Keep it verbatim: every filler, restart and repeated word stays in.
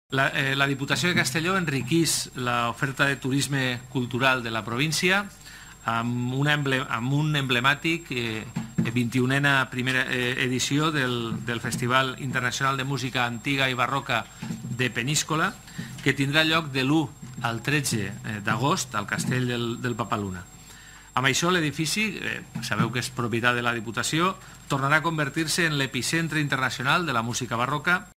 La, eh, la Diputació de Castelló enriquís l'oferta de turisme cultural de la província amb, una emble, amb un emblemàtic eh, vint-i-unena primera eh, edició del, del Festival Internacional de Música Antiga i Barroca de Peníscola, que tindrà lloc de l'u al tretze d'agost al Castell del, del Papaluna. Amb això l'edifici, eh, sabeu que és propietat de la Diputació, tornarà a convertir-se en l'epicentre internacional de la música barroca